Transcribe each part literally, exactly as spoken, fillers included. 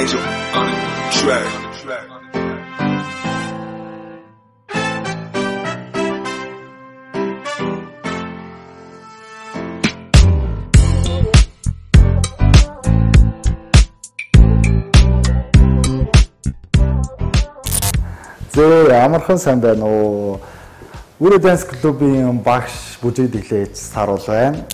Angel on it. Track. Зөө амархан сайн байна уу. Үрэ Dance Club-ийн багш бүжиг дэглэж саруул байна.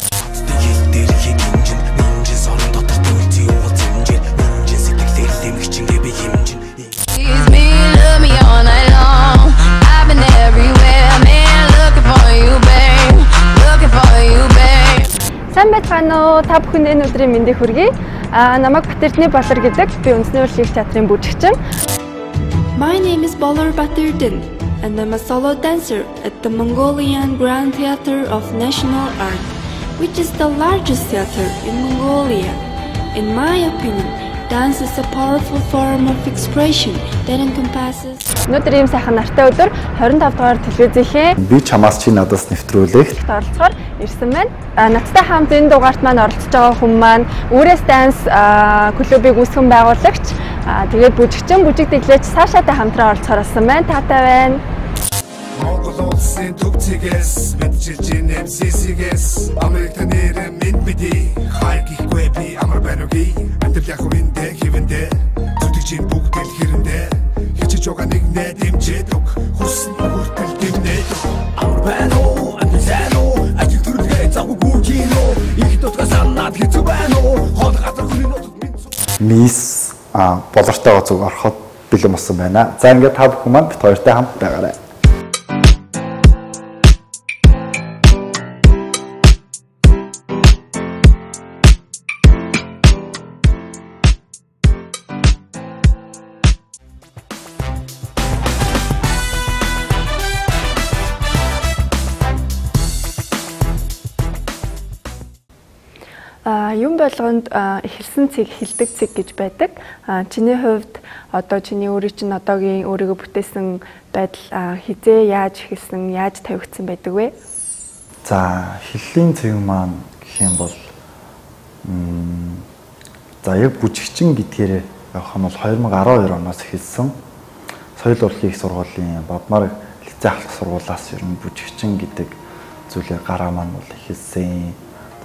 Сайн байцгаана уу? Та бүхэнд энэ өдрийн мэндийг хүргэе. Аа намайг Батэрдний Болор гэдэг. Би Үндэсний урлагийн театрын бүжигчин. My name is Bolor Baterdin, and I'm a solo dancer at the Mongolian Grand Theatre of National Art, which is the largest theatre in Mongolia. In my opinion, dance is a powerful form of expression that encompasses. Өнөөдөр ийм сайхан нартай өдөр twenty-five дугаар телевизийнхээ Би чамаас чи надаас нэвтрүүлэх оролцохоор ирсэн байна. Надтай хамт энэ дугаарт маань оролцож байгаа хүн маань Үрээс Dance клубыг үүсгэн байгуулагч, тэгээд бүжигчин бүжиг дэглэж Сашатай хамтран оролцохоор болсон байна. Таатай байна. Монгол улсын төвцгээс мэдчилж ин эм си си-гээс Америкт нэр минь биди хайгихгүй би амар бануги амтэл яг үндэ хивэндэ зүтгэж бүгд л хэрэндэ хичиж байгаа нэг нэ дэмжээд өг хүссэн хүртэл дэмнээд амар бану амтсано ажил төрөлгээ завгүй гүржинөө их дотгоо санаад хэцүү байна уу хол газар хүний нутаг минь мисс а болортойгоо зүг ороход бэлэн болсон байна. За ингээд та бүхэн маань бит хоёртай хамт байгаарай. Юм болгонд эхэлсэн цэг эхэлдэг цэг гэж байдаг. Чиний хувьд одоо чиний өөрийн чинь одоогийн өөрийгөө бүтээсэн байдал хизээ яаж эхэлсэн, яаж тавигдсан байдаг вэ? За эхлэлийн цэг маань гэх юм бол за яг бүжигчин гэдгээр явах нь бол twenty twelve оноос эхэлсэн. Соёл урлагийн их сургуулийн Бадмараг лицей ахлах сургуулиас ер нь бүжигчин гэдэг зүйлээ гараа маань бол эхэлсэн.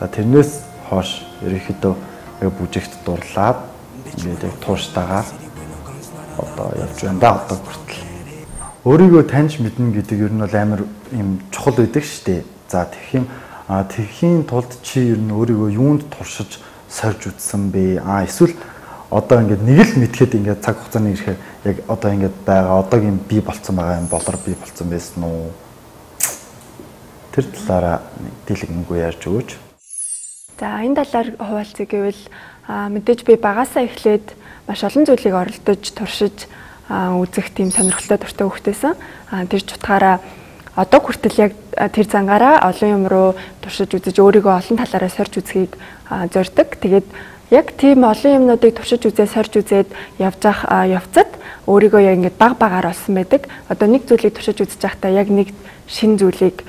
За тэрнээс хойш ерөнхийдөө бүжигт дурлаад ингээд тууштайгаар одоо явж байна да одоо хүртэл. Өөрийгөө таньж мэднэ гэдэг ер нь бол амар юм чухал байдаг шүү дээ. За тэгэх юм тэрхийн тулд чи ер нь өөрийгөө юунд туршиж сорж үзсэн бэ? А эсвэл одоо ингээд нэг л мэдхэд ингээд цаг хугацааны ирэхээр яг одоо ингээд байгаа одоогийн би болцсон байгаа юм болор би болцсон байсан уу? Тэр талаараа дэлгэнгүй ярьж өгөөч. За энэ талаар хуваалцъя гэвэл мэдээж би багасаа эхлээд маш олон зүйлийг оролдож, туршиж үзэх тийм сонирхолтой дуртай хүүхдээсэн. Тэр ч утгаараа одоо хүртэл яг тэр зангаараа олон юм руу туршиж үзэж өөрийгөө олон талаараа сорж үзхийг зорддог. Тэгээд яг тийм олон юмнуудыг туршиж үзээ, сорж үзээд явж ах явцад өөрийгөө яг ингээд баг багаар олсон байдаг. Одоо нэг зүйлийг туршиж үзэж байхдаа яг нэг шин зүйлийг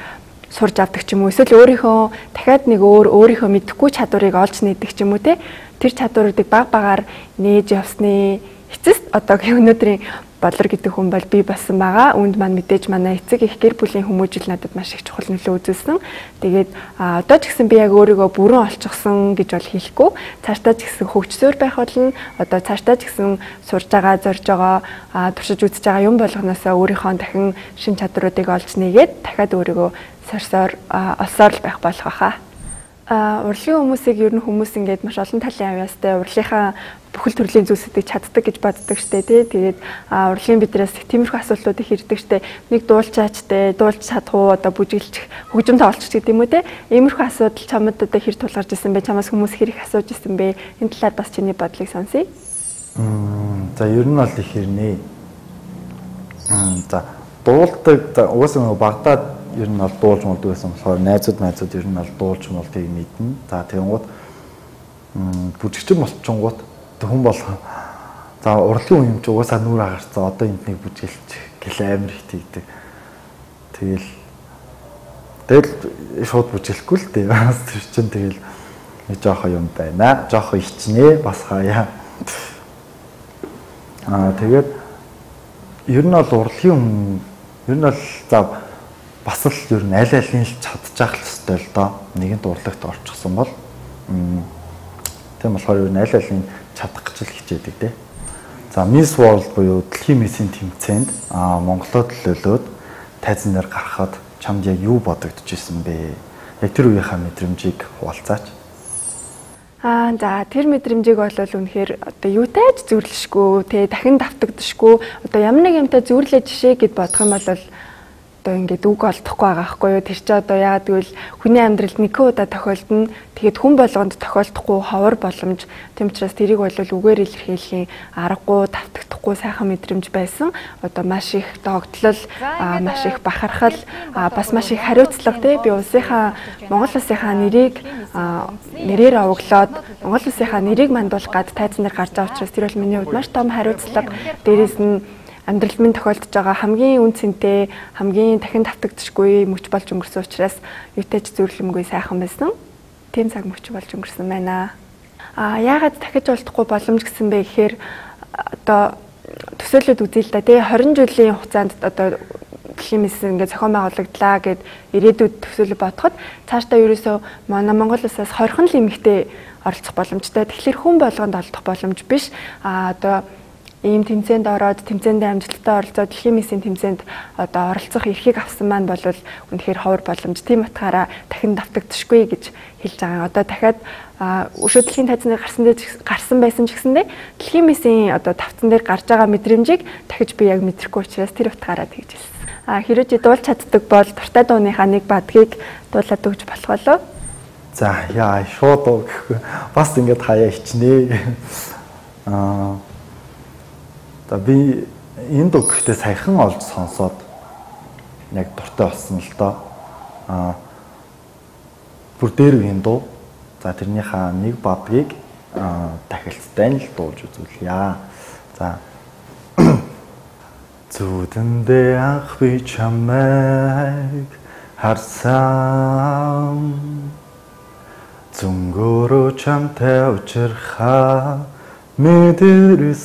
сурж авдаг ч юм уу, эсвэл өөрийнхөө дахиад нэг өөр өөрийнхөө мэдэхгүй чадварыг олж нээдэг ч юм уу те. Тэр чадваруудыг баг багаар нээж явсны эцэст одоогийн өнөөдрийн Болор гэдэг хүн бол би болсон байгаа. Үүнд маань мэдээж манай эцэг их гэр бүлийн хүмүүжил надад маш их чухал нөлөө үзүүлсэн. Тэгээд одоо ч гэсэн би яг өөрийгөө бүрэн олчихсон гэж бол хэлэхгүй. Цаашдаа ч гэсэн хөгжсөөр байх болно. Одоо цаашдаа ч гэсэн сурж байгаа, зорж байгаа, туршиж үзэж байгаа юм болгоноосоо өөрийнхөө дахин шин чадваруудыг олж нээгээд дахиад өөрийгөө сорсоор олсоор л байх болох баха. А урлагийн хүмүүсийг ер нь хүмүүс ингээд маш олон талын авьяастай урлагийнхаа бүхэл төрлийн зүйлсүүдийг чаддаг гэж боддог штэ тий. Тэгээд урлагийн бидрээс тиймэрхүү асуултуудыг ирдэг штэ. Нэг дуулчаачтай, дуулж чадах уу, одоо бүжиглчих, хөгжим тоолч гэдэг юм уу те. Иймэрхүү асуудал чамд одоо хэр тулгарч ирсэн бэ? Чамаас хүмүүс хэр их асууж ирсэн бэ? Энэ талаар бас чиний бодлыг сонсъё. За ер нь бол их хэрнээ. За дуулдаг уусаа багтаад ер нь бол дуулж молдог байсан болохоор найзууд найзууд ер нь бол дуулж молдгийг мэднэ. За тэгэнгუთ бүжигчин болчихгонгууд хүн бол за урлагийн юм чи угаасаа нүур агарцаа одоо энднийг бүжиглчих гэл амир их тийгдэг. Тэгэл тэгэл шууд бүжиглэхгүй л дээ. Бас тэр чин тэгэл нэг жоохоо юм байна. Жоохоо ичнэ бас хаяа. Аа тэгээд ер нь бол урлагийн хүн ер нь бол за бас л ер нь аль алийн л чадчих л хэвээр л доо. Нэгэнт урлагт орчихсон бол тийм болохоор ер нь аль алийн чадах гэж л хичээдэг те. За Miss World буюу дэлхийн миссийн тэмцээнд аа Монголоо төлөөлөөд тайзан дээр гарахад чамд яг юу бодогдож исэн бэ? Яг тэр үеийнхаа мэдрэмжийг хуваалцаач. Аа за тэр мэдрэмжийг бол үнэхээр одоо юутай ч зүрлэшгүй те дахин давтагдшгүй одоо ямар нэг юмтай зүрлээ жишээ гэд бодох юм бол одоо ингээд үг олдохгүй байгаа байхгүй юу тэр чи одоо яагаад гэвэл хүний амьдралд нэг удаа тохиолдно тэгээд хүн болгонд тохиолдохгүй ховор боломж тийм учраас тэрийг бол үгээр илэрхийлэхийн аргагүй давтагдахгүй сайхан мэдрэмж байсан одоо маш их догтлол маш их бахархал бас маш их хариуцлага тий би улсынхаа Монгол улсынхаа нэрийг нэрээр овоглоод Монгол улсынхаа нэрийг мандуулах гад тайзан дээр гарч байгаа учраас тэр бол миний хувьд маш том хариуцлага дээрээс нь амьдрал минь тохиолдож байгаа хамгийн үн цэнтэй хамгийн дахин давтагдшгүй мөч болж өнгөрсөн учраас юутай ч зөвлөмгүй сайхан байсан. Тийм цаг мөч болж өнгөрсөн байна. Аа яагаад дахиж олдохгүй боломж гэсэн бэ гэхээр одоо төсөөлөд үзье л да тий хорин жилийн хугацаанд одоо дэлхийн миссийн ингээд зохион байгуулагдлаа гэд ирээдүйд төсөөлөд бодоход цаашдаа ерөөсөө манай Монгол улсаас хорхон л эмэгтэй оролцох боломжтой. Тэгэхээр хүн болгонд олдох боломж биш. Аа одоо ийм тэмцээнд ороод тэмцээндээ амжилттай оролцоод дэлхийн миссийн тэмцээнд одоо оролцох эрхийг авсан маань бол үнэхээр ховор боломж. Тийм утгаараа дахин давтагдшгүй гэж хэлж байгаа. Одоо дахиад өшөө дэлхийн тайзан дээр гарсан гарсан байсан ч гэсэндээ дэлхийн миссийн одоо тавцан дээр гарч байгаа мэдрэмжийг дахиж би яг мэдрэхгүй учраас тэр утгаараа тэгж хэлсэн. А хэрвээ чи дуулж чаддаг бол дуртай дууныхаа нэг бадгийг дуулаад өгч болох болоо. За яа шууд гэхгүй бас ингэж хаяа хичнээ. Аа За би энэ дуу гэхдээ саяхан олж сонсоод яг дуртай болсон л доо. Аа бүр дээр үеийн дуу. За тэрнийхээ нэг бадгийг дахилцтай л дуулж үзүүлье. За зүудэндээ анх би чамайг харсан зүнгөрөө чамтай учрахаа мэдэрсэн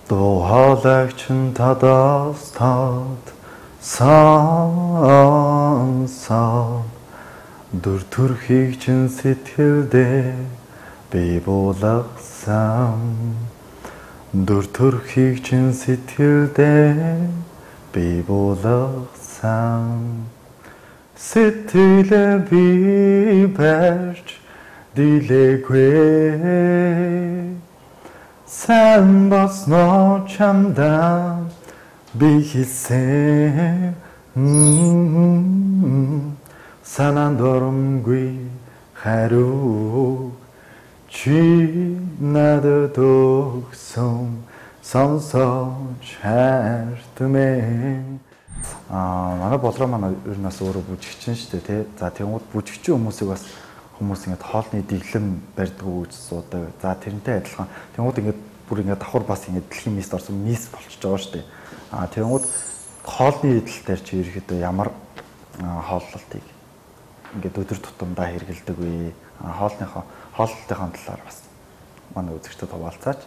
дуулагчин тадаас тад сонсоод дүр төрхийг чин сэтгэлдээ би буулгасан дүр төрхийг чин сэтгэлдээ би буулгасан сэтгэлээ би барьж Dilekwe sen basno çamda bir hisse sanandorum gui haru chi nada doksom sonso çertme а манай болроо манай ер нь бас өөрөө бүжигчин шүү дээ тий. За тэгвэл бүжигчин хүмүүсийг бас хүмүүс ингээд хоолны дэглэм барьдгүй гэж суудаг. За тэрнтэй адилхан. Тэнгууд ингээд бүр ингээд давхар бас ингээд дэлхийн мисс орсон мисс болчихж байгаа шүү дээ. Аа тэнгууд хоолны идэл дээр чи ерөөхдөө ямар хооллолтыг ингээд өдөр тутамдаа хэрэгэлдэг вэ? Хоолныхоо хооллолтын талаар бас манай үзэгчдэд хуваалцаач.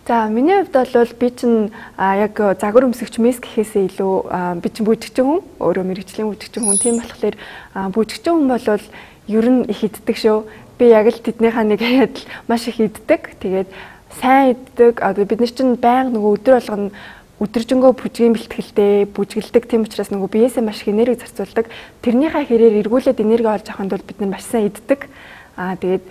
За миний хувьд бол би чинь яг загвар өмсөгч мисс гэхээсээ илүү би чинь бүжигчин хүн, өөрөө мэрэгжлийн бүжигчин хүн. Тийм болохоор бүжигчин хүн бол ер нь их иддэг шүү. Би яг л тэднийхээ нэг адил маш их иддэг. Тэгээд сайн иддэг. Одоо бид нар чинь байнга нөгөө өдөр болгоно өдөржингөө бүжгийн бэлтгэлтэй бүжгэлдэг. Тийм учраас нөгөө биеэсээ маш их энерги зарцуулдаг. Тэрнийхээ хэрээр эргүүлээд энерги олж авахын тулд бид нар маш сайн иддэг. Аа тэгээд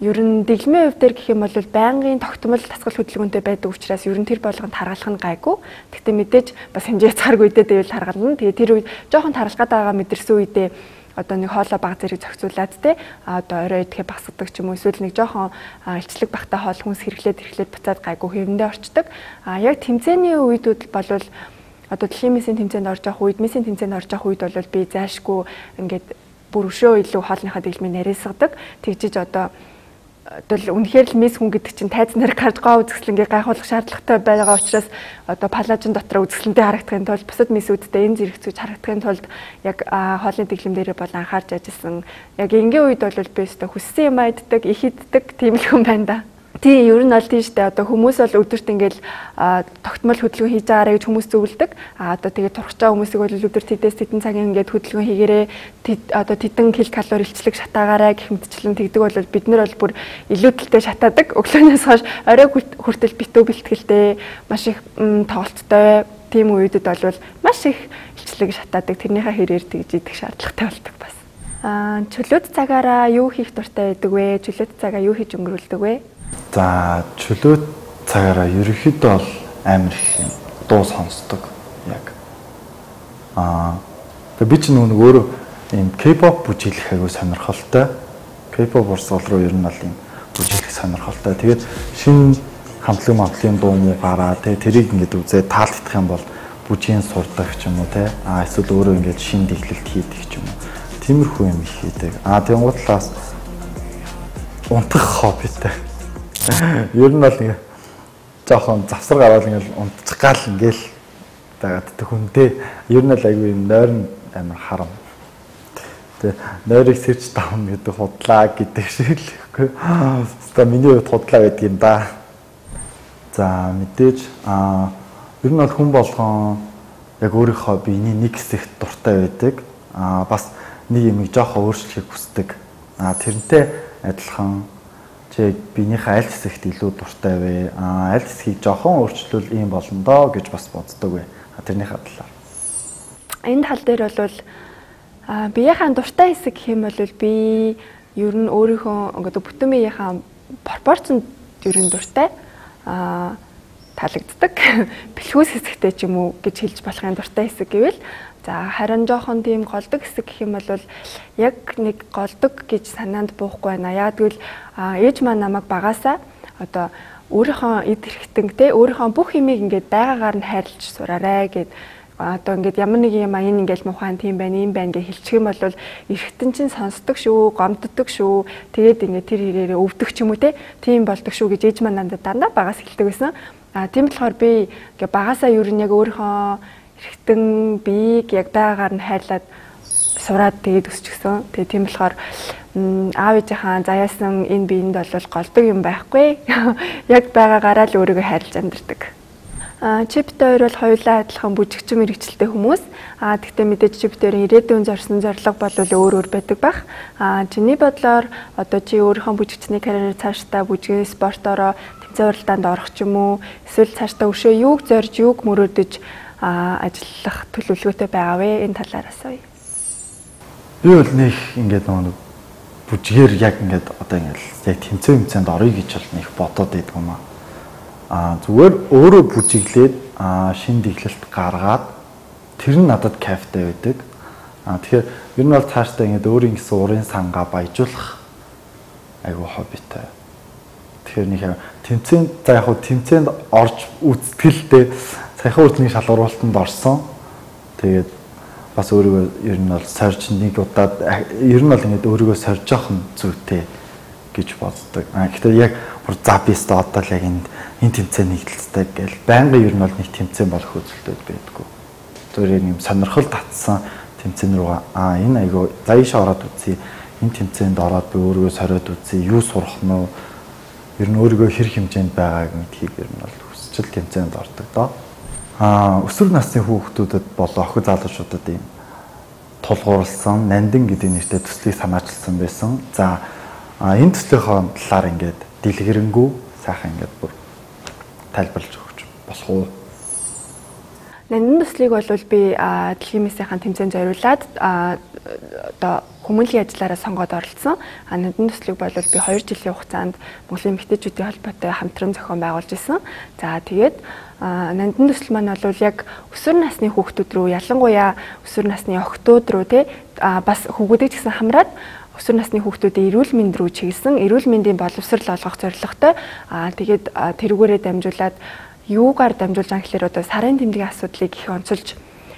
ер нь дэглэмийн хувьд дээр гэх юм бол байнгын тогтмол дасгал хөдөлгөөнтэй байдаг учраас ер нь тэр болгонд харгалах нь гайгүй. Гэхдээ мэдээж бас хэмжээ цааргүй үедээ дэвэл харгална. Тэгээ тэр үед жоохон таралгаад байгаа мэдэрсэн үедээ одоо нэг хоолой баг зэрэг зохицуулаад те одоо орой идэхээ багсгадаг ч юм уу эсвэл нэг жоохон илчлэг багтаа хоол хүнс хэрэглээд хэрэглээд буцаад гайгүй хэвэндээ орчдөг. А яг тэмцээний үед бол одоо дэлхийн миссийн тэмцээнд орж явах үед миссийн тэмцээнд орж явах үед бол би зайшгүй ингээд бүр өшөө илүү хоолныхаа дэглэмийг нарийсгадаг. Тэгжиж одоо одоо үнэхээр л мис хүн гэдэг чинь тайз нарыг харж гоо үзэсгэлэнгээ гайхуулах шаардлагатай байгаа учраас одоо палажин дотор үзэсгэлэнтэй харагдахын тулд бусад мисүүдтэй энэ зэрэг зүйж харагдахын тулд яг хоолны дэглэм дээр бол анхаарч ажилласан. Яг энгийн үед бол би өстө хүссэн юм айддаг, их иддэг тийм л хүн байна да. Тийм ер нь бол тийм штэ одоо хүмүүс бол өдөрт ингээл тогтмол хөдөлгөөн хийж байгаарэ гэж хүмүүс зөвлөдөг. А одоо тэгээд турхаж байгаа хүмүүсийг бол өдөрт тэдээс тэдэн цагийн ингээд хөдөлгөөн хийгээрээ одоо тэдэн кил калори илчлэг шатаагаарай гэх мэтчлэн тэгдэг бол бид нар бол бүр илүүдэлтэй шатаадаг. Өглөөнөөс хойш орой хүртэл битүү бэлтгэлтэй маш их тоглолттой тийм үедэд бол маш их илчлэг шатаадаг. Тэрнийхээ хэрээр тэгж идэх шаардлагатай болдог бас. А чөлөөт цагаараа юу хийх дуртай байдаг вэ? Чөлөөт цагаа юу хийж өнгөрүүлдэг вэ? За чөлөөт цагаараа ерөнхийдөө бол амар их юм дуу сонсдог яг. Аа тэгээ би ч нэг өөрөө юм K-pop бүжиглэх аягүй сонирхолтой. K-pop урсгал руу ер нь бол юм бүжиглэх сонирхолтой. Тэгээд шинэ хамтлаг мамтлын дуу муу гараа тэгээ тэрийг ингээд үзээ таалагдах юм бол бүжгийн сурдаг ч юм уу те. Аа эсвэл өөрөө ингээд шинэ дэглэлт хийдэг ч юм уу. Тиймэрхүү юм их хийдэг. Аа тэгэн гутлаас унтах хоббитэй. Ер нь бол ингээ жоохон завсар гараад ингээл унтчих гал ингээл дагаад тэ хүнтэй ер нь л айгүй юм нойрон амар харам. Тэ нойрыг сэрж давна гэдэг худлаа гэдэг шиг л ихгүй. Хэвээ миний хувьд худлаа байдаг юм да. За мэдээж аа ер нь бол хүн болгон яг өөрийнхөө биений нэг хэсэгт дуртай байдаг. Аа бас нэг юм жоохон өөрчлөхийг хүсдэг. Аа тэрнтэй адилхан чи биенийхээ аль хэсэгт илүү дуртай вэ? Аа аль хэсгийг жоохон өөрчлөвл ийм болно доо гэж бас боддог вэ? Тэрнийхээ талаар. Энэ тал дээр бол аа биеийнхээ дуртай хэсэг гэх юм бол би ер нь өөрийнхөө ингээд бүтэн биеийнхээ пропорцонд ер нь дуртай аа таалагддаг. Бэлхүүс хэсэгтэй ч юм уу гэж хэлж болохын дуртай хэсэг гэвэл за харин жоохон тийм голдог хэсэг гэх юм бол яг нэг голдог гэж санаанд буухгүй байна. Яг тэгвэл ээж маань намайг багасаа одоо өөрийнхөө эд хэрэгтэнгтэй өөрийнхөө бүх юмыг ингээд байгаагаар нь хайрлаж сураарай гэд одоо ингээд ямар нэг юм аа энэ ингээд муухайн тийм байна, ийм байна гэж хэлчих юм бол эргэтэн чинь сонсдог шүү, гомддог шүү. Тэгээд ингээд тэр хэрээрээ өвдөх ч юм уу те. Тийм болдог шүү гэж ээж маань надад дандаа багаас хэлдэг байсан. А тийм болохоор би ингээд багасаа ер нь яг өөрийнхөө эргэтэн биеийг яг байгаагаар нь хайрлаад сураад тэгээд өсчихсөн. Тэгээд тийм болохоор аав ээжийнхаа заяасан энэ биеинд бол голдог юм байхгүй. Яг байгаагаараа л өөрийгөө хайрлаж амьдардаг. А чипт хоёр бол хоёулаа адилхан бүжигчин мэрэгчлээ хүмүүс. А тэгтээ мэдээж чипт хоёрын ирээдүйн зорьсон зорилго бол өөр өөр байдаг бах. А чиний бодлоор одоо чи өөрийнхөө бүжигчний карьераар цаашдаа бүжгийн спортороо тэмцээн уралдаанд орох ч юм уу эсвэл цаашдаа өшөө юуг зорж юуг мөрөөдөж ажиллах төлөвлөгөөтэй байгаа вэ? Энэ талаар асууя. Би бол нэг ингээд нэг бүжгээр яг ингээд одоо ингээд яг тэмцээн тэмцээнд орё гэж бол нэг бодоод байдаг юм аа. Аа зүгээр өөрөө бүжиглээд шин дэглэлт гаргаад тэр нь надад кайфтай байдаг. Аа тэгэхээр ер нь бол цаашдаа ингээд өөрийн гэсэн урын сангаа баяжуулах айгуу хоббитай. Тэгэхээр нэг тэмцээнд за яг хуу тэмцээнд орж үзтгэлтэй саяхан үрдний шалгуулалтанд орсон. Тэгээд бас өөрийгөө ер нь бол сорж нэг удаад ер нь бол ингээд өөрийгөө сорж явах нь зүйтэй гэж боддог. А гэхдээ яг бүр за бист одоо л яг энэ энэ тэмцээний хэлцтэй гэл байнгын ер нь бол нэг тэмцээн болох үзэлтэй байдаггүй. Зүгээр юм сонирхол татсан тэмцээн рүү аа энэ айгуу за ийшээ ороод үзье. Энэ тэмцээнд ороод би өөрийгөө сориод үзье. Юу сурах нь вэ? Ер нь өөрийгөө хэр хэмжээнд байгааг мэдхийг ер нь бол хүсчил тэмцээнд ордог доо. Аа өсвөр насны хүүхдүүдэд болон охид залуучуудад ийм тулгуурласан нандин гэдэг нэртэй төслийг санаачилсан байсан. За энэ төслийнхөө талаар ингээд дэлгэрэнгүй сайхан ингээд бүр тайлбарлаж өгч болох уу? Нандин төслийг бол би дэлхийн мисийнхаа тэмцээнд зориулаад одоо хүмүүнлэгийн ажлаараа сонгоод оролцсон. А нандин төслийг бол би хоёр жилийн хугацаанд Монголын эмэгтэйчүүдийн холбоотой хамтран зохион байгуулж исэн. За тэгээд нандин төсөл маань бол яг өсвөр насны хүүхдүүд рүү ялангуяа өсвөр насны охтууд руу те бас хүүхдүүдийг ч гэсэн хамраад өсвөр насны хүүхдүүдийн эрүүл мэнд рүү чиглэсэн эрүүл мэндийн боловсрол олгох зорилготой. Аа тэгээд тэрүүгээрээ дамжуулаад юугаар дамжуулж байгаа гэхээр одоо сарын тэмдгийн асуудлыг их онцолж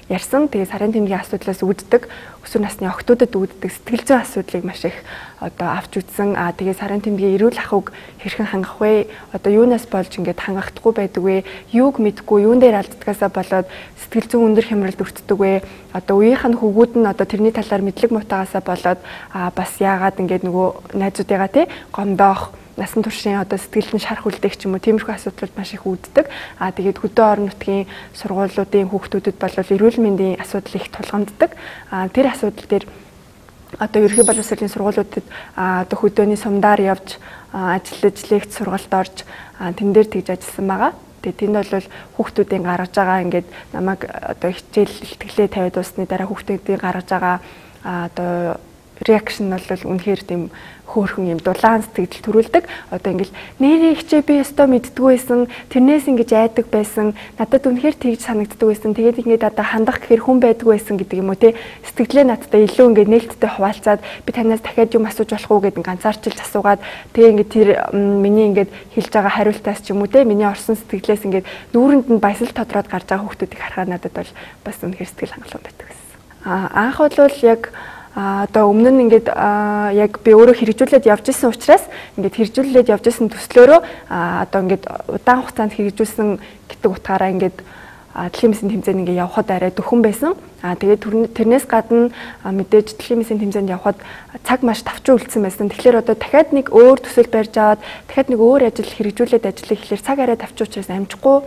ярьсан. Тэгээ сарын тэмдгийн асуудлаас үүддэг өсвөр насны охтуудад үүддэг сэтгэл зүйн асуудлыг маш их одоо авч үзсэн. Аа тэгээ сарын тэмдгийн эрүүл ахуйг хэрхэн хангах вэ? Одоо юунаас болж ингээд хангахдаггүй байдаг вэ? Юуг мэдгүй, юун дээр алддгаасаа болоод сэтгэл зүйн өндөр хямралд өртдөг вэ? Одоо үеийнх нь хөвгүүд нь одоо тэрний талаар мэдлэг мутаагаасаа болоод аа бас яагаад ингээд нөгөө найзуудыгаа тий гомдоох насан туршийн одоо сэтгэлд нь шарх үлдээх ч юм уу тиймэрхүү асуудлууд маш их үүддэг. Аа тэгээд хөдөө орон нутгийн сургуулиудын хүүхдүүдэд бол эрүүл мэндийн асуудал их тулгамддаг. Аа тэр асуудал дээр одоо ерөнхий боловсролын сургуулиудад одоо хөдөөний сумдаар явж ажиллаж лекц сургалт орж тэн дээр тэгж ажилласан байгаа. Тэгээд тэнд бол хүүхдүүдийн гаргаж байгаа ингээд намайг одоо хичээл ихтгэлээ тавиад дуусны дараа хүүхдүүдийн гаргаж байгаа одоо реакшн нь бол үнэхээр тийм хөөрхөн юм дулаан сэтгэл төрүүлдэг. Одоо ингээл нэрээ хичээ би өстой мэддгүй байсан. Тэрнээс ингэж айдаг байсан. Надад үнэхээр тэгж санагддаг байсан. Тэгээд ингээд одоо хандах гэхээр хүн байдгүй байсан гэдэг юм уу те. Сэтгэлээ надтай илүү ингээд нээлттэй хуваалцаад би танаас дахиад юм асууж болох уу гэдэг ганцаарчилж асуугаад тэгээ ингээд тэр миний ингээд хэлж байгаа хариултаас ч юм уу те миний орсон сэтгэлээс ингээд нүүрэнд нь баясал тодроод гарч байгаа хүүхдүүдийг харахад надад бол бас үнэхээр сэтгэл хангалуун байдаг байсан. Аа анх бол яг А одоо өмнө нь ингээд яг би өөрөө хэрэгжүүлээд явж исэн учраас ингээд хэрэгжүүлээд явж исэн төслөөрөө одоо ингээд удаан хугацаанд хэрэгжүүлсэн гэдэг утгаараа ингээд дэлхийн мэсийн тэмцээнд ингээд явхад арай дөхөн байсан. А тэгээд тэрнээс гадна мэдээж дэлхийн мэсийн тэмцээнд явхад цаг маш тавчин үлдсэн байсан. Тэгэхээр одоо дахиад нэг өөр төсөл барьж аваад дахиад нэг өөр ажил хэрэгжүүлээд ажиллах гэхэлэр цаг арай тавчин учраас амжихгүй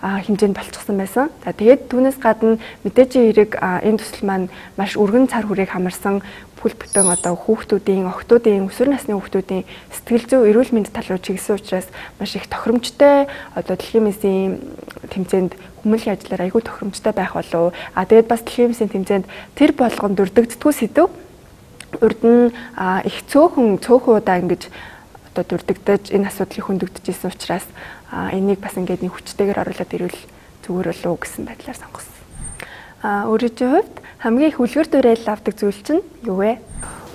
хэмжээнд болчихсон байсан. За тэгээд түүнээс гадна мэдээжийн хэрэг энэ төсөл маань маш өргөн цар хүрээг хамарсан бүл бүтэн одоо хүүхдүүдийн, охтуудын, өсвөр насны хүүхдүүдийн сэтгэл зүй эрүүл мэнд тал руу чиглэсэн учраас маш их тохиромжтой одоо дэлхийн мэсийн тэмцээнд хүмүүнлэгийн ажлаар айгүй тохиромжтой байх болов. А тэгээд бас дэлхийн мэсийн тэмцээнд тэр болгонд дурддагддгүй сэдв урд нь их цөөхөн цөөхөн удаа ингэж одоо дурддагдаж энэ асуудлыг хөндөгдөж исэн учраас энийг бас ингээд нэг хүчтэйгээр оруулаад ирвэл зүгээр болов уу гэсэн байдлаар сонгосон. А өөрийнхөө хувьд хамгийн их үлгэр дуурайл авдаг зүйл чинь юу вэ?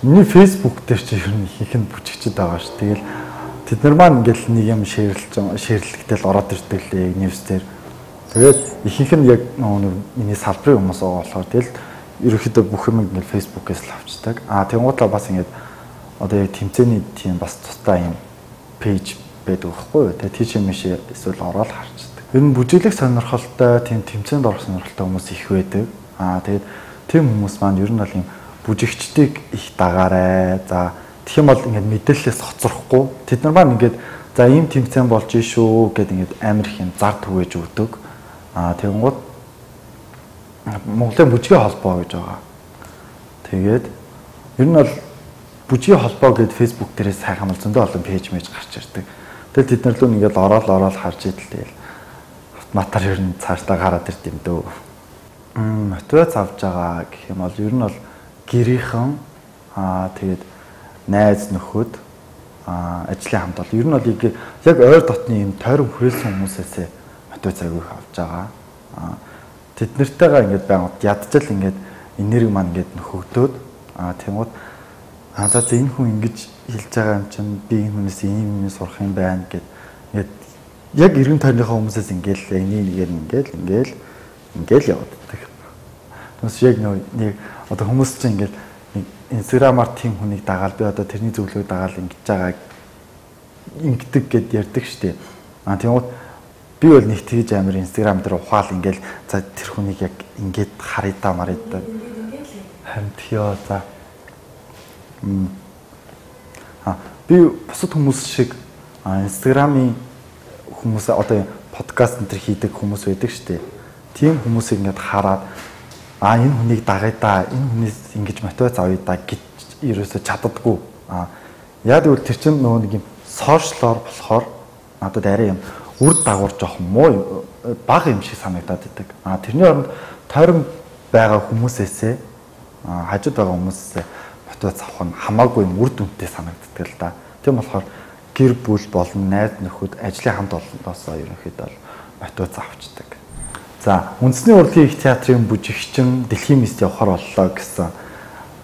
Миний Facebook дээр чи ер нь ихэнх нь бүжигчд байгаа ш. Тэгэл тэд нар маань ингээд нэг юм шеэрлж шеэрлэгтэл ороод ирдэг лээ ньюс дээр. Тэгээд ихэнх нь яг миний салбарын хүмүүс байгаа болохоор тэгэл ерөөхдөө бүх юм ингээд Facebook-ээс л авчдаг. А тэгмуудлаа бас ингээд одоо яг тэмцээний тийм бас тусдаа юм пэйж байдаг байхгүй юу. Тэгээ тийч юм шиг эсвэл ороод харцдаг. Ер нь бүжиглэх сонирхолтой тийм тэмцээнд орох сонирхолтой хүмүүс их байдаг. Аа тэгээд тийм хүмүүс маань ер нь бол юм бүжигчдийг их дагаарай. За тэгэх юм бол ингээд мэдээлэлээс хоцрохгүй. Тэд нар маань ингээд за ийм тэмцээн болж ийшүү гэд ингээд амар их юм зар түгээж өгдөг. Аа тэгэнгუთ Монголын бүжгийн холбоо гэж байгаа. Тэгээд ер нь бол бүжгийн холбоо гэд Facebook дээрээс сайхан бол зөндөө олон пэйж мэж гарч ирдэг. Тэгэл тэд нар л ингээд ороод ороод харж идэл тэгэл автоматар ер нь цаашдаа гараад ирд юм дөө. Мм мотивац авч байгаа гэх юм бол ер нь бол гэрийнхэн аа тэгээд найз нөхөд аа ажлын хамт бол ер нь бол яг ойр дотны юм тойрон хүрээлсэн хүмүүсээс мотивац авих авч байгаа. Аа тэд нартайгаа ингээд байгаад ядчил ингээд энерги маань ингээд нөхөгдөөд аа тэгмүүд а за энэ хүн ингэж хэлж байгаа юм чинь би энэ хүнээс ийм юм сурах юм байна гэд ингээд яг эргэн тойрныхоо хүмүүсээс ингээл энийг нэгээр ингээл ингээл ингээл явагддаг. Тэс яг нэг одоо хүмүүс чинь ингээл инстаграмаар тийм хүнийг дагаал би одоо тэрний зөвлөгөөг дагаал ингэж байгаа ингэдэг гэд ярьдаг штеп. А тэгмээд би бол нэг тэгж амир инстаграм дээр ухаал ингээл за тэр хүнийг яг ингээд харидаа маридаа харин тийё за А би бусад хүмүүс шиг инстаграмын хүмүүс одоо подкаст энэ төр хийдэг хүмүүс байдаг шүү дээ. Тийм хүмүүсийг ингээд хараад а энэ хүнийг дагая да, энэ хүнээс ингэж мотивац авъя да гэж ерөөсө чаддаггүй. А яа гэвэл тэр чинь нөгөө нэг юм сошиалор болохоор надад арай юм үр дагавар жоох муу бага юм шиг санагдаад байдаг. А тэрний оронд тойрон байгаа хүмүүсээсээ хажууд байгаа хүмүүсээсээ мотивац авах нь хамаагүй юм үр дүнтэй санагддаг л да. Тийм болохоор гэр бүл болон найз нөхөд ажлын хамт олондоосоо ерөнхийдөө мотивац авчдаг. За үндэсний урлагийн их театрын бүжигчин дэлхийн мэст явахаар боллоо гэсэн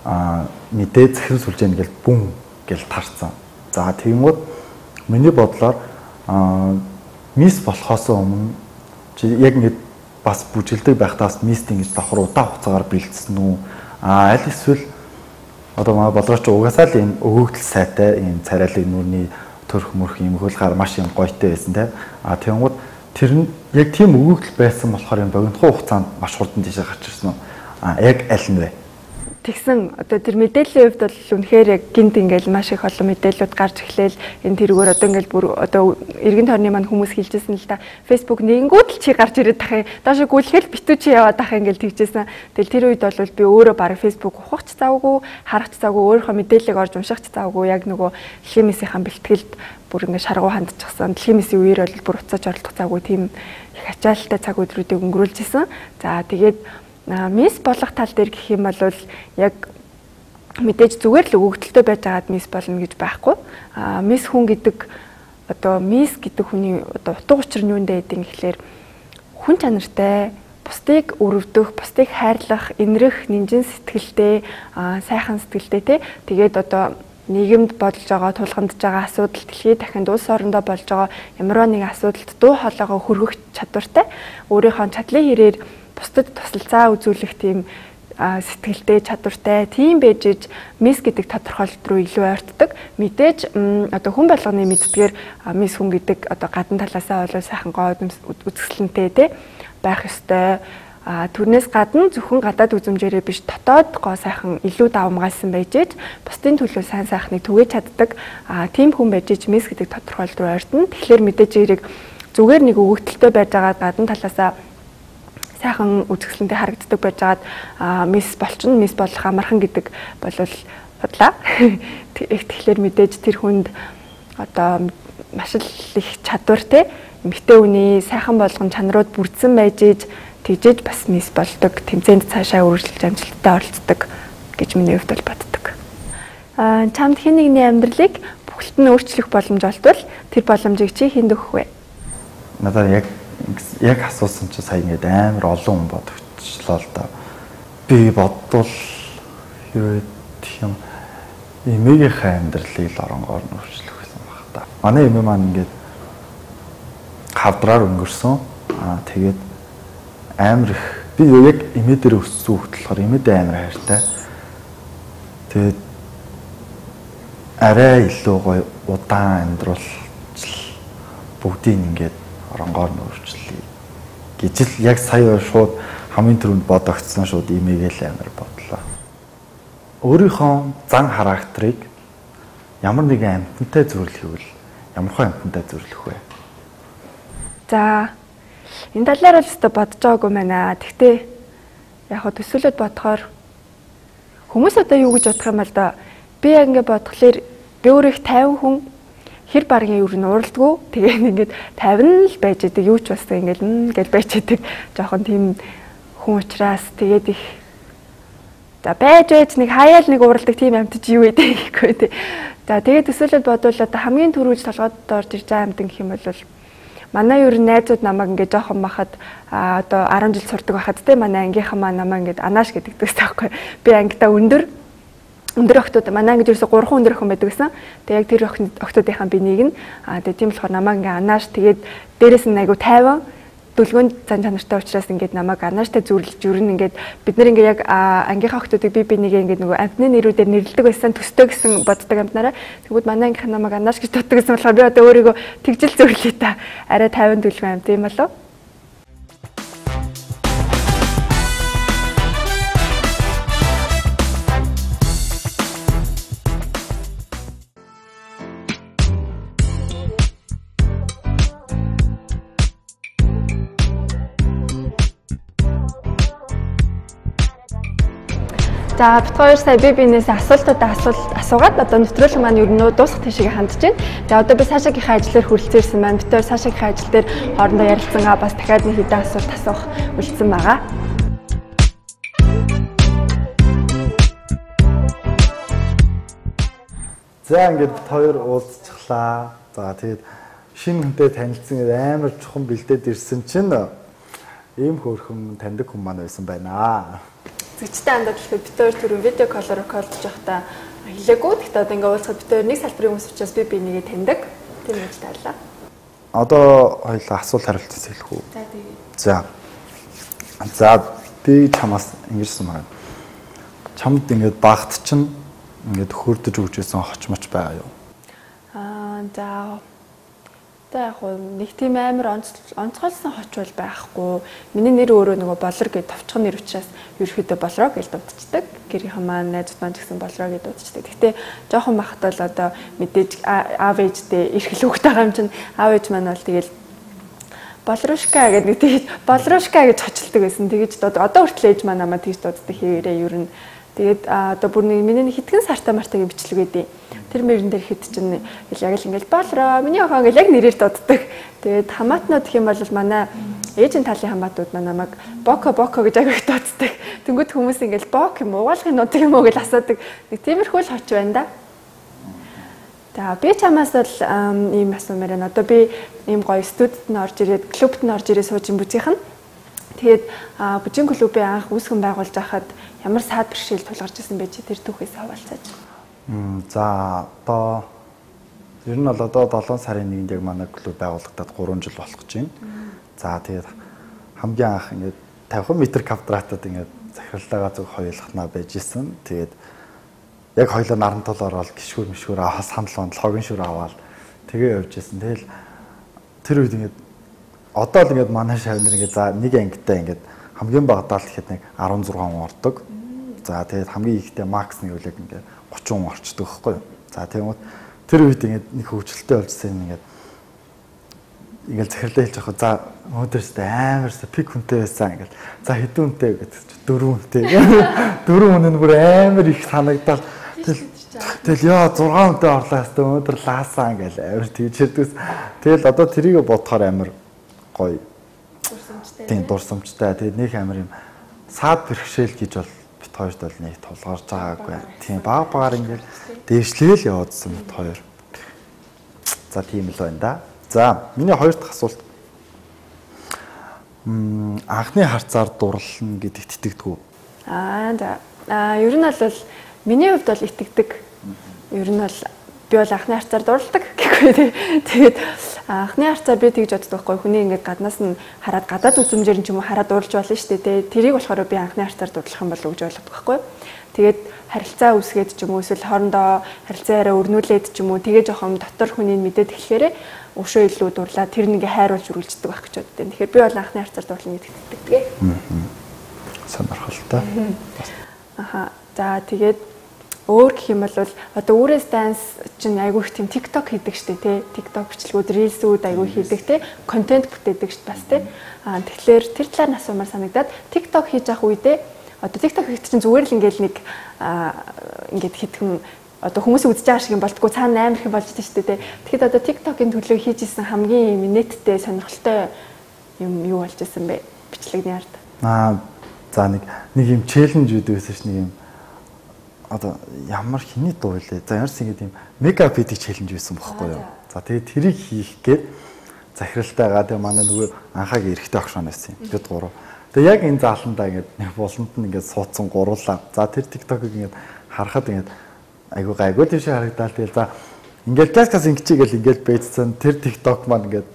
аа мэдээ захирал сүлжээ ингээл бүн гэл тарцсан. За тэгмүүд миний бодлоор аа мис болохоос өмнө чи яг ингээд бас бүжгэлдэг байхдаа мистинг гэж давхар удаан хугацаагаар бэлдсэн үү? Аа аль эсвэл одоо манай болооч угаасаа л энэ өгөгдөл сайтай энэ царайлаг нүрний төрх мөрх юм хөлгаар маш юм гойтой байсан те. Аа тэгэнгүүт тэр нь яг тийм өгөгдөл байсан болохоор юм богинохон хугацаанд маш хурдан тийшээ гарч ирсэн үү? Аа яг аль нь вэ? Тэгсэн одоо тэр мэдээллийн хувьд бол үнэхээр яг гинт ингээл маш их олон мэдээлэлүүд гарч эхлээл энэ тэргээр одоо ингээл бүр одоо эргэн тойрны маань хүмүүс хэлжсэн л да Facebook нэгэнгүүд л чи гарч ирээд тахын доош гүйлгээл битүү чи яваад тахын ингээл тэгжсэн. Тэгэл тэр үед бол би өөрөө баг Facebook ухах ч завгүй харах ч завгүй өөрийнхөө мэдээллийг орж унших ч завгүй яг нөгөө химисийн бэлтгэлд бүр ингээд шаргуу хандчихсан. Химисийн үеэр бол бүр уцааж оролдох завгүй тийм их ачаалттай цаг өдрүүдийг өнгөрүүлж исэн. За тэгээд мисс болох тал дээр гэх юм бол яг мэдээж зүгээр л өгөгдөлтөй байж байгаад мисс болно гэж байхгүй. А мисс хүн гэдэг одоо мисс гэдэг хүний одоо утга учир нь юундэ гэдэг гэхлээр хүн чанартай, бусдыг өрөвдөх, бусдыг хайрлах, инрэх, нинжин сэтгэлтэй, сайхан сэтгэлтэй те. Тэгээд одоо нийгэмд болж байгаа, тулгамдж байгаа асуудал, дэлхийд дахинд улс орондоо болж байгаа ямар нэгэн асуудалд дуу хоолойгоо хүргэх чадвартай, өөрийнхөө чадлын хэрээр бусдад тусалцаа үзүүлэх тийм сэтгэлтэй, чадвартай, тийм байж иж мисс гэдэг тодорхойлолт руу илүү ойртдог. Мэдээж одоо хүн болгоны мэддгээр мисс хүн гэдэг одоо гадна талаасаа бол сайхан гоо үзэсгэлэнтэй те байх ёстой. А түрнээс гадна зөвхөн гадаад үзмжээрээ биш дотоод гоо сайхан илүү давмгайлсан байж иж бусдын төлөө сайн сайхныг түгээж чаддаг. А тийм хүн байж иж мисс гэдэг тодорхойлолт руу ойртно. Тэгэхээр мэдээж хэрэг зүгээр нэг өгөгдөлтөй байж байгаа гадна талаасаа сайхан үзэсгэлэнтэй харагддаг байж байгаад мисс болчихно, мисс болох амархан гэдэг болвол бодлаа. Тэгэхээр мэдээж тэр хүнд одоо маш их чадвар те эмэгтэй хүний сайхан болгон чанарууд бүрдсэн байж иж тэгжээж бас мисс болдог, тэмцээнд цаашаа үргэлжлэж амжилттай оролцдог гэж миний хувьд бол боддог. Аа чамд хэн нэгний амьдралыг бүхэлд нь өөрчлөх боломж олдвол тэр боломжийг чи хэнд өгөх вэ? Надад яг яг асуусан чи сая ингээд амар олон хүн бодогчлоо л да. Би бодвол хэрвээ тийм эмээгийнхээ амьдралыг л оронгоор нь өөрчлөх гэсэн баг та. Манай эмээ маань ингээд хавдраар өнгөрсөн. Аа тэгээд амар их би яг эмээ дээр өссөн хөлт болохоор эмээдээ амар хайртай. Тэгээд арай илүү гоё удаан амьдрал бүгдийг ингээд оронгоор нь өөрчлөе гэж л яг сая шууд хамгийн түрүүнд бодогдсон шууд имэйл амар бодлоо. Өөрийнхөө зан характерыг ямар нэгэн амьтантай зөвлөх вэ? Ямар хөө амьтантай зөвлөх вэ? За энэ талаар л өстө бодож байгаагүй байна. Гэхдээ яг хөө төсөөлөд бодохоор хүмүүс одоо юу гэж бодох юм бол да би яг ингэ бодглохлоор би өөрөө их тайван хүн хэр баргийн юу н уралдгүй тэгээд ингээд тавина л байж байгаа юу ч бас ингээд ингээл байж байгаа жоохон тийм хүн учраас тэгээд их за байж байж нэг хаяал нэг уралдаг тийм амьтж юу гэдэг гэхгүй тий. За тэгээд төсөөлөд бодвол одоо хамгийн түрүүж толгойд орж ирж байгаа амьтан гэх юм бол манай юу найзууд намайг ингээд жоохон бахад одоо арван жил сурдаг байхад тий манай ангийнхан маа намайг ингээд анааш гэдэг дээс таахгүй би ангидаа өндөр өндөр охтууд манай ангид ерөөсө гурван өндөр охин байдаг гэсэн. Тэгээ яг тэр охтуудынхаа би нэг нь аа тэгээ тийм болохоор намайг ингээ анааш тэгээд дээрэс нь айгу тайван дүлгөөн зан чанартай учраас ингээд намайг анааштай зүрлж жүрнэ ингээд бид нар ингээ яг ангийнхаа охтуудыг би би нэгээ ингээд нөгөө амтны нэрүүдээр нэрлэдэг байсан төстэй гэсэн боддог амтнараа тэгвэл манай ангийнхан намайг анааш гэж боддог гэсэн болохоор би одоо өөрийгөө тэгжил зөвлөе та арай тайван дүлгөөн амт юм болов. За бид хоёр сая би бинээс асуултуудаа асуулт асуугаад одоо нэвтрүүлэг маань ер нь дуусах тийшээ хандж байна. За одоо би Сашагийнхаа ажлаар хүрэлцээрсэн байна. Бид хоёр Сашагийнхаа ажил дээр хоорондоо ярилцсан аа бас дахиад нэг хэдэн асуулт асуух үлдсэн байгаа. За ингээд бид хоёр уулзчихлаа. За тэгээд шинэ хүнтэй танилцсан амар чухам бэлдээд ирсэн чинь ийм хөөрхөн таньдаг хүн маань байсан байна. Зэгчтэй хандаад болохоор бид хоёр түрүү видео колоор рекордж байхдаа хэлээгүй. Гэхдээ одоо ингээ уулзахад бид хоёр нэг салбарын хүмүүс учраас би би нэгээ таньдаг. Тийм гэж таалаа. Одоо хоёулаа асуулт хариултаас хэлэх үү? За тэгээ. За. За би чамаас ингэсэн байна. Чамд ингээд багт чинь ингээд хөрдөж өгчээсэн хочмоч байгаа юу? Аа за та яг нэг тийм амар онцгойлсон хоч бол байхгүй. Миний нэр өөрөө нөгөө болор гэж товчхон нэр учраас ерөөхдөө болроо гэж дуудчихдаг. Гэрийнхэн маань найзууд маань гэсэн болроо гэж дуудчихдаг. Гэхдээ жоохон бахад бол одоо мэдээж аав ээжтэй эрхэл хөвгтэй байгаа юм чинь аав ээж маань бол тэгэл болрушка гэдэг нэг тийж болрушка гэж хочилдог байсан. Тэгэж одоо хүртэл ээж маань намайг тийж дууддаг хэрэг ер нь. Тэгээд одоо бүр нэг миний хитгэн сартаа мартагийн бичлэг байдیں۔ Тэр мөрөн дээр хэд чинь яг л ингээл болроо миний охин ингээл яг нэрээр дууддаг. Тэгээд хамаатнууд гэх юм бол манай ээжийн талын хамаатууд маань намайг боко боко гэж агиг дууддаг. Тэнгүүд хүмүүс ингээл бок юм угаалгын нутаг юм уу гэж асуудаг. Нэг тиймэрхүү л хоч байна да. За би чамаас бол ийм асуумаар байна. Одоо би ийм гоё студид нь орж ирээд клубт нь орж ирээд сууж юм бүжийнх нь. Тэгээд бүжийн клубын анх үүсгэн байгуулж байхад ямар саад бэрхшээл тулгарч ирсэн бэ чи тэр түүхээс хаваалцаач. За одоо ер нь бол одоо долоон сарын нэгэнд яг манай клуб байгуулагдаад гурван жил болох гэж байна. За тэгээд хамгийн анх ингээд тавьхан метр квадратад ингээд захиралтаагаа зөв хоёулахнаа байж исэн. Тэгээд яг хоёлоо наран тул ороод гişгүр мишгүр аваа санал бондол хогийн шүр аваад тэгээ явж исэн. Тэгэл тэр үед ингээд одоо л ингээд манай шавнар ингээд за нэг ангитай ингээд хамгийн багадаа л гэхэд нэг арван зургаан ордог. За тэгээд хамгийн ихтэй макс нэг үлэг ингээд гучин орчдөг байхгүй юу. За тэгмээд тэр үед ингээд нэг хөвчлөлтэй болжсэн ингээд ингээд захирлаа хэлж байгаа. За өнөөдөрстэй амарсаа пик хүнтэй байсан ингээд. За хэдэн хүнтэй гэдэг чи дөрвөн хүнтэй. Дөрвөн хүн нь бүр амар их санагдал. Тэгэл яа зургаан хүнтэй орлоо хэвээр өнөөдөр лаасаа ингээд амар тэгж хэрдэгс. Тэгэл одоо тэрийг бодохоор амар гоё. Дурсамжтай. Тийм дурсамжтай. Тэгээд нэг амар юм саад бэрхшээл гэж бол бит хоёрт бол нэг тулгарч байгаагүй. Тийм баг багаар ингээд дээшлээл яваадсан бит хоёр. За тийм л байна да. За миний хоёр дахь асуулт. Мм анхны харцаар дурлална гэдэгт итгэдэг үү? Аа за. Аа ер нь бол миний хувьд бол итгэдэг. Ер нь бол би бол анхны харцаар дурладаг гэхгүй тий. Тэгээд анхны харцаар би тэгж боддог байхгүй. Хүний ингээд гаднаас нь хараад гадаад үзмжээр нь ч юм уу хараад дурлж болно шүү дээ тий. Тэрийг болохоор би анхны харцаар дурлах юм болов уу гэж боддог байхгүй. Тэгээд харилцаа үүсгээд ч юм уу эсвэл хоорондоо харилцаа яриа өрнүүлээд ч юм уу тэгээ жоохон дотор хүнийг мэдээд эхлэхээр өшөө илүү дурлаа тэр нэгэ хайруулж үргэлждэг байх гэж боддیں۔ Тэгэхээр би бол анхны харцаар дурлах гэдэгт итгэдэг. Аа. Сонирхолтой. Аха. За тэгээд өөр гэх юм бол одоо өөрөөс данс чинь айгүй их тийм TikTok хийдэг штэ тий. TikTok бичлэгүүд, Reels-үүд айгүй хийдэг тий. Контент бүтээдэг штэ бас тий. Аа тэгэхээр тэр талаар нь асуумаар санагдаад TikTok хийж явах үедээ одоо TikTok хийх чинь зүгээр л ингээл нэг ингээд хитгэн одоо хүмүүсийг үзэж байгаа шиг юм болтгоо цаана амар их болж байгаа шүү дээ. Тэгэхэд одоо TikTok-ийн төлөө хийж исэн хамгийн нэттэй сонирхолтой юм юу болж исэн бэ? Бичлэгний ард. Аа за нэг нэг юм челленж үүд байсан ш нэг юм одоо ямар хиний дуу вэ? За ямарс ингэ тийм мегап хийдэг челленж байсан бохоггүй юу? За тэгээд тэрийг хийх гээд захиралтайгаа тэгээ манай нөгөө анхаагийн эрэгтэй огшоон байсан юм. Бид гурав. Тэгээ яг энэ зааландаа ингээд нэг буланд нь ингээд суудсан гуруулаа. За тэр TikTok-ыг ингээд харахад ингээд айгуу гайгүй тийш харагдаад тэгэл за ингээд каскас ингэчигээл ингээд бэйцсэн тэр TikTok маань ингээд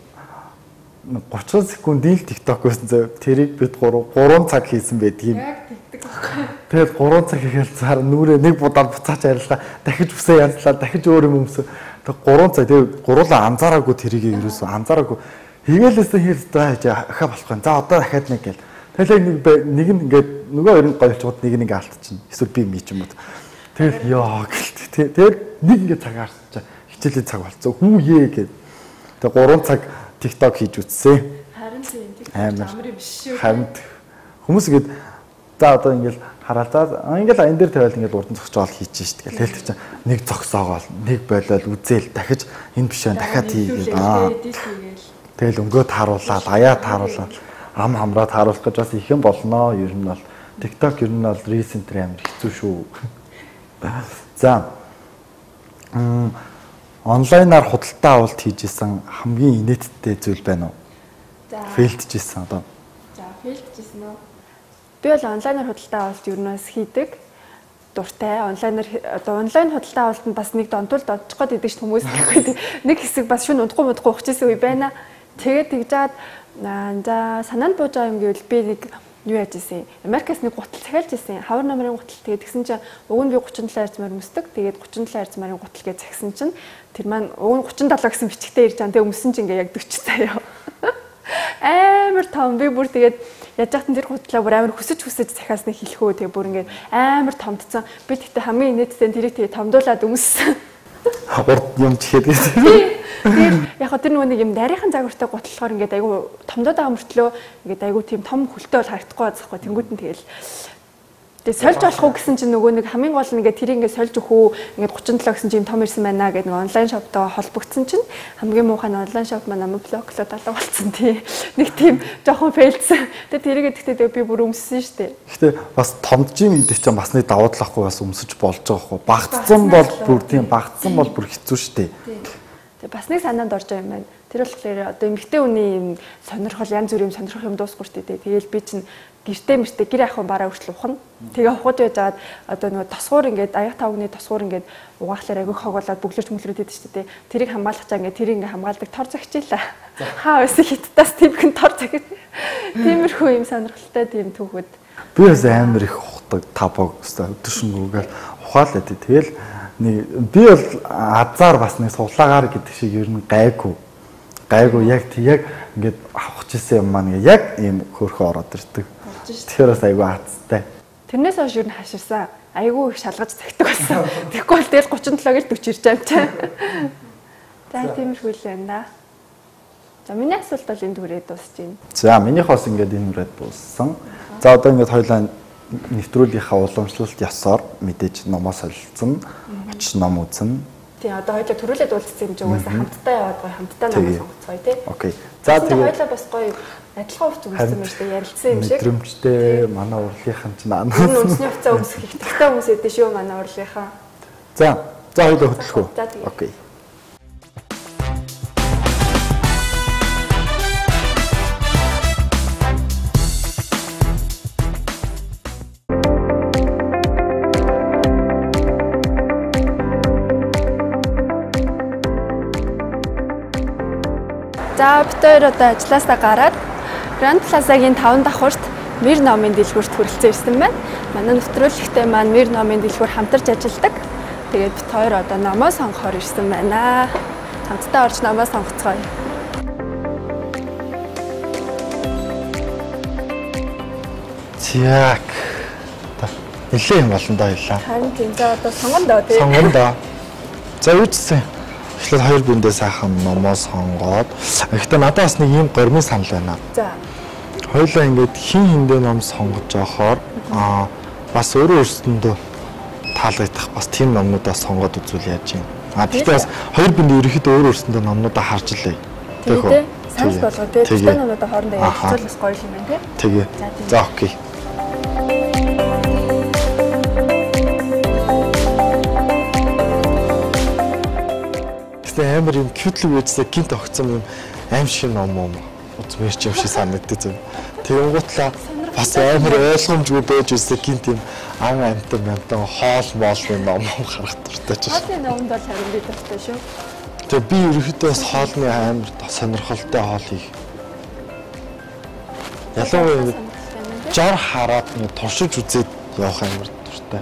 гучин секундын л TikTok байсан зөө тэрийг бид гурав гурван цаг хийсэн байдгийг. Яг тэгдэг байхгүй. Тэгээд гурван цаг хийгээл цаар нүрээ нэг будаад буцаач арилгаа дахиж бүсээ янзлаа дахиж өөр юм өмсөө. Тэг гурван цаг тэгээд гуруулаа анзаараагүй тэрийг ерөөсөө анзаараагүй хийгээлээсээ хэлдэ хаа болох юм. За одоо дахиад нэг гээл. Тэгэл нэг нэг нь ингээд нөгөө хоёр нь гоёлчууд нэг нэг алдчихна. Эсвэл би ми ч юм уу. Тэгэл яа гэлт. Тэгээд нэг ингээд цагаарч хичээлийн цаг болцсон. Хүүе гэд. Тэгээд гурван цаг TikTok хийж үтсэн. Харин тийм TikTok амар юм биш шүү. Харин хүмүүс ингээд за одоо ингээд хараад за ингээд энэ дээр тавиал ингээд урдан зогсоол хийж шít гэл хэлдэг чинь нэг зогсоогоол нэг болол үзээл дахиж энэ биш байна дахиад хийгээд аа. Тэгэл өнгөө тааруулаад аяа тааруулаад ам хамраад харуулах гэж бас их юм болноо. Ер нь бол TikTok ер нь бол recent амар хэцүү шүү. За. Мм онлайнаар худалдаа авалт хийжсэн хамгийн инээдтэй зүйл байна уу? За. Фейлдчихсэн одоо. За, фейлдчихсэн үү? Би бол онлайнаар худалдаа авалт ер нь бас хийдэг. Дуртай. Онлайнаар одоо онлайн худалдаа авалтанд бас нэг донтуулд онцох гээд идэг ш хүмүүс гэхгүй. Нэг хэсэг бас шүн унтахгүй мудахгүй ухчихсан үе байна. Тэгээд тэгж жаад за санаанд бууж байгаа юм гэвэл би нэг юу яаж исэн. Америкаас нэг гутал захиалж исэн. Хавар намрын гутал. Тэгээд тэгсэн чинь уг нь би гучин долоо арзмаар өмсдөг. Тэгээд гучин долоо арзмарын гутал гэж захисан чинь тэр маань уг нь гучин долоо гэсэн бичгтээ ирж байгаа. Тэгээд өмсөн чинь ингээ яг forty заяа. Амар том. Би бүр тэгээд яаж яхад тэр гутлаа бүр амар хүсэж хүсэж захиасныг хэлэхөө. Тэгээд бүр ингээ амар томдсон. Би тэгтээ хамгийн инээдтэй тэрийг тэгээд томдуулаад өмссөн. Урд юм чихээд гэсэн. Тэгээд яг хөө тэр нөгөө нэг юм нарийнхан загвартай гутлахаар ингээд айгу томдоод байгаа мөртлөө ингээд айгу тийм том хөлтэй бол харагдахгүй байцахгүй тэнгууд нь тэгэл тэгээд сольж болох уу гэсэн чинь нөгөө нэг хамгийн гол нь ингээд тэр ингээд сольж өгөх үү ингээд thirty-seven гэсэн чинь том ирсэн байна гэдэг нэг онлайн шоптоо холбогдсон чинь хамгийн муухай нь онлайн шоп маань намайг блоклоод алга болсон тий. Нэг тийм жоохон фейлдсэн. Тэгээд тэрийгээ тэгтээ би бүр өмссөн шүү дээ. Гэхдээ бас томдж ийн гэдэг чинь бас нэг давуу талахгүй бас өмсөж болж байгаа хгүй. Багтсан бол бүр тийм багтсан бол бүр хэцүү шүү дээ. Тэгээ бас нэг санаанд орж байгаа юм байна. Тэр болохоор одоо эмэгтэй хүний юм сонирхол янз бүрийн сонирхох юм дуусгүй шүү дээ. Тэгээл би чинь гэртээ мэртээ гэр ахын бараа хүртэл ухна. Тэгээ ухаад байжгаад одоо нөгөө тосгуур ингээд аяг тавгны тосгуур ингээд угаахлаар агиг хоголоод бүглэрч мөлрөөд идэв шүү дээ. Тэрийг хамгаалах чаа ингээд тэрийг ингээд хамгаалдаг тор загчлаа. Хаа байсан хиттаас тэмхэн тор загт. Тиймэрхүү юм сонирхолтой тийм түүхэд. Би бас амар их ухдаг табог өстой өдөршөнгөөгөл ухаалаа тий. Тэгэл би бол азар бас нэг суглаагаар гэдэг шиг ер нь гайгүй. Гайгүй яг яг ингээд авах гэсэн юм маань яг ийм хөөрхөө ороод ирдэг. Тэгэхээр бас айгүй азтай. Тэрнээс хойш ер нь хаширсан. Айгүй их шалгаж цагтдаг байсан. Тэгэхгүй бол тэгэл thirty-seven-ээр forty ирж байгаа юм чинь. За тиймэрхүү л байна да. За миний асуулт бол энэ дүрээд дуусж байна. За минийх бас ингээд энэ дүрээд дууссан. За одоо ингээд хоёулаа нэвтрүүлгийнхаа уламжлалт ёсоор мэдээж номоо солилцсон, очиж ном үзэн. Тийм одоо хоёулаа төрүүлээд уулзсан юм жигээс хамтдаа яваад гоё хамтдаа ном сонгоцгоё тий. Окей. За тэгээд хоёулаа бас гоё адилхан хувц үзсэн юм шиг ярилцсан юм шиг. Мэдрэмжтэй манай урлагийнхан ч наа. Үнсний хувцас өмсөх ихтэй хүмүүс эдэн шүү манай урлагийнхаа. За за хоёулаа хөтлөх үү. Окей. За бид хоёр одоо ажилласаа гараад Grand Plaza-гийн таван давхурт Мир номын дэлгүүрт хүрэлцэн ирсэн байна. Манай нэвтрүүлэгтэй маань Мир номын дэлгүүр хамтарч ажилладаг. Тэгээд бид хоёр одоо номоо сонгохоор ирсэн байна. Хамтдаа орж номоо сонгоцгоё. Зяк. Нилээ юм болно доо ялаа. Харин тийм за одоо сонгоно доо тий. Сонгоно доо. За үүссэн. Эхлээд хоёр биндээ сайхан номоо сонгоод гэхдээ надад бас нэг юм гормын санал байна. За. Хоёулаа ингээд хин хиндээ ном сонгож явахаар аа бас өөрөө өөрсөндөө таалагдах бас тийм номнуудаа сонгоод үзүүл яаж юм. А гэхдээ бас хоёр биндээ ерөөхдөө өөр өөрсөндөө номнуудаа харж илээ. Тэгвэл санал болгоо тий. Тэгтээ номнуудаа хоорондоо ярилцвал бас гоё юм байна тий. Тэгээ. За окей. Амар юм cute-л үжсээ гинт огцсон юм аим шиг ном юм үзмэрч юм шиг санагддаг зөв. Тэгэнгүүтлээ бас амар ойлгомжгүй байж үсээ гинт юм ан амтан амтан хоол моолны ном харах дуртай ч. Хоолны номд бол харин би дуртай шүү. Тэгээ би ерөөхдөө бас хоолны амар сонирхолтой хоол хийх. Ялангуяа жар хараад нэг туршиж үзээд явах амар дуртай.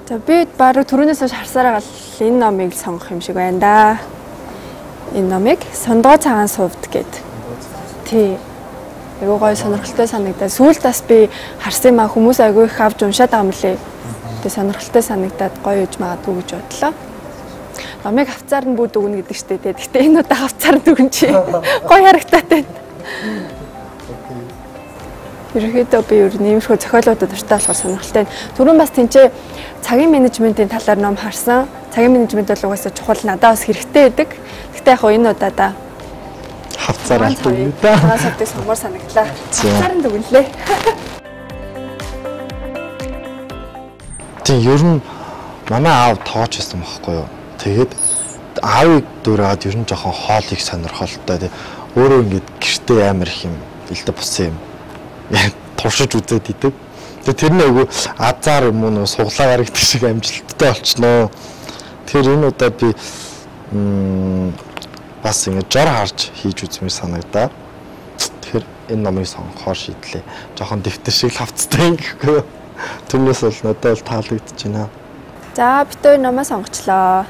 За би баруун түрүүнээс хойш харсараа гал энэ номыг сонгох юм шиг байна да. Энэ номыг Сондгоо цагаан сувд гэдэг. Тий. Айгуу гоё сонирхолтой санагдаад сүүлд бас би харсан маа хүмүүс айгуу их авч уншаад байгаа юм лээ. Тэгээ сонирхолтой санагдаад гоё үж магадгүй гэж бодлоо. Номыг хавцаар нь бүүд өгнө гэдэг штэ тий. Гэтэ энэ удаа хавцаар нь өгөн чи. Гоё харагдаад байна. Ерөнхийдөө би ер нь иймэрхүү зохиолуудад дуртай болохоор сонирхолтой. Түрүүн бас тэнцээ цагийн менежментийн талаар ном харсан. Цагийн менежмент бол угаасаа чухал надад бас хэрэгтэй байдаг. Гэхдээ яг энэ удаа хавцаар аль да. Цагаан сувдыг сонгоор санагдлаа. Хавцаар нь дүгнэлээ. Тийм ер нь манай аав тоож байсан байхгүй юу. Тэгээд аавыг дураад ер нь жоохон хоол их сонирхолтой. Өөрөө ингээд гэртээ амар их юм илдэ бусан юм. Туршиж үзээд идэг. Тэгээ тэрний айгу азар юм уу суглаагаар гэдэг шиг амжилттай болчихноо. Тэгэхээр энэ удаа би бас ингэ жор харж хийж үзмээр санагдаа. Тэгэхээр энэ номыг сонгохоор шийдлээ. Жохон дэвтэр шиг л хавцтай ингэхгүй. Түүнээс бол надад бол таалагдж байна. За бид хоёр номоо сонгочлоо.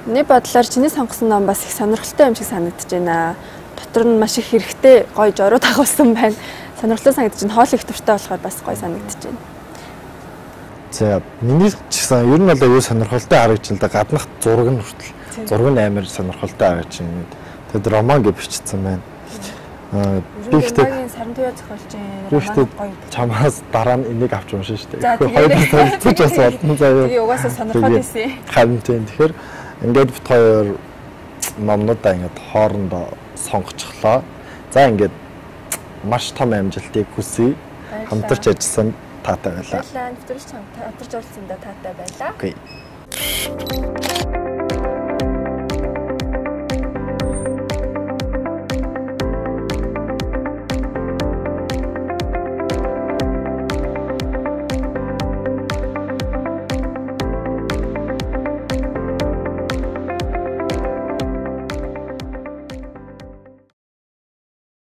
Миний бодлоор чиний сонгосон ном бас их сонирхолтой юм шиг санагдаж байна. Дотор нь маш их хэрэгтэй гоё жорууд агуулсан байна. Сонирхолтой санагдаж байна. Хоол их дуртай болохоор бас гоё санагдаж байна. За миний ч гэсэн ер нь бол аюу сонирхолтой харагдж байна. Гаднах зураг нь хүртэл. Зураг нь амар сонирхолтой харагдж байна. Тэгэд роман гэж бичсэн байна. Аа би ихтэй сарн туяа зохиолч роман гоё. Чамаас дараа нь энийг авч уншин шүү дээ. За хоёр сонсож бас болтон заяа. Тэгээ угаасаа сонирхоод байсан. Харин тийм. Тэгэхээр ингээд бит хоёр номнуудаа ингээд хоорондоо сонгочихлоо. За ингээд маш том амжилтыг хүсье. Хамтарч ажилласан таатай байлаа. Баярлалаа. Нэвтрүүлж хамтарч оролцсондоо таатай байлаа. Окей.